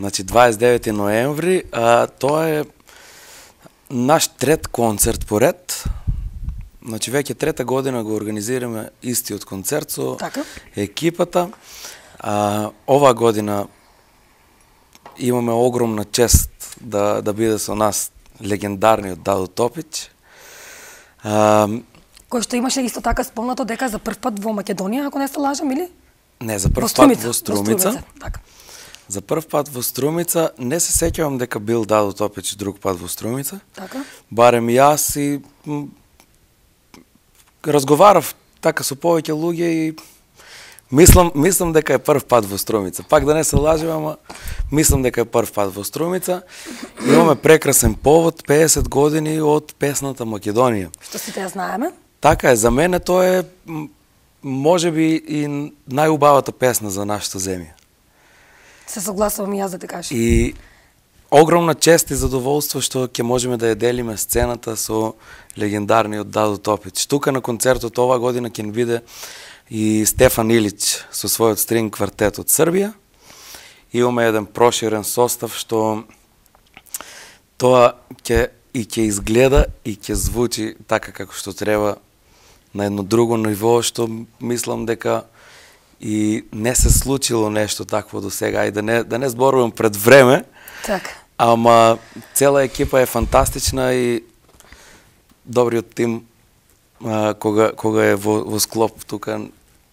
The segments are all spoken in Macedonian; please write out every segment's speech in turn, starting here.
Значи 29 ноември, тоа е наш трет концерт поред. Значи веќе трета година го организираме истиот концерт со екипата. Оваа година имаме огромна чест да биде со нас легендарниот Дадо Топич. Кој што имаше исто така спомнато дека за прв пат во Македонија, ако не се лажам, или? Не, за прв пат во Струмица. Така. За прв пат во Струмица, не се сеќавам дека бил Дадо Топич друг пат во Струмица. Така. Барем јас и разговарав така со повеќе луѓе и мислам дека е прв пат во Струмица. Пак да не се лажем, ама мислам дека е прв пат во Струмица. Имаме прекрасен повод, 50 години од песната Македонија. Што сите ја знаеме? Така е, за мене тоа е можеби и најубавата песна за нашата земја. Се согласувам и јас да те кажам. И огромна чест и задоволство што ќе можеме да ја делиме сцената со легендарниот Дадо Топич. Тука на концертот оваа година ќе ни биде и Стефан Илич со својот стринг квартет од Србија. Имаме еден проширен состав што тоа ќе изгледа и ќе звучи така како што треба на едно друго ниво, што мислам дека и не се случило нешто такво до сега и да не зборувам пред време. Така. Ама цела екипа е фантастична и добриот тим кога е во склоп тука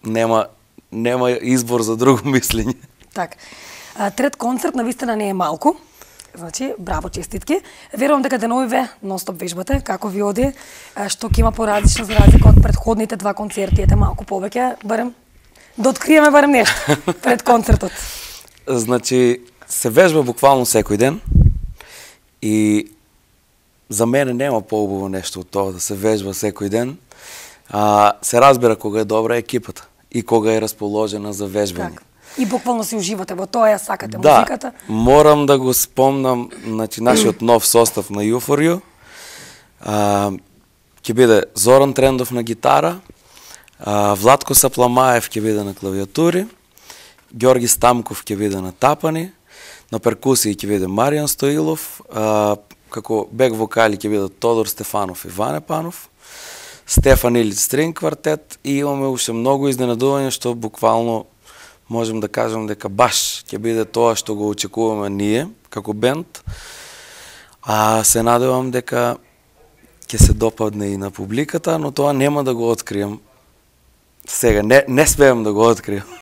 нема избор за друго мислење. Така. Трет концерт навистина не е малку. Значи, браво, честитки. Верувам дека деновиве нон-стоп вежбате, како ви оди, што ќе има поразлично за разлика од претходните два концерти, ете малку повеќе, барем да откриеме барем нешто пред концертот. Значи, се вежба буквално секој ден и за мене нема поубаво нешто од тоа да се вежба секој ден. Се разбира кога е добра екипата и кога е расположена за вежбање. И буквално си уживате во тоа, ја сакате музиката. Да, морам да го спомнам, значи, нашиот нов состав на Јуфорио. Ќе биде Зоран Трендов на гитара, Владко Сапламаев ќе биде на клавиатури, Ѓорги Стамков ќе биде на тапани, на перкусии ќе биде Маријан Стоилов, како бек вокали ќе биде Тодор Стефанов и Ване Панов, Стефан Илич стринг квартет и имаме уште многу изненадување што буквално можем да кажем дека баш ќе биде тоа што го очекуваме ние како бенд. Се надевам дека ќе се допадне и на публиката, но тоа нема да го открием сега, не смеам да го открием.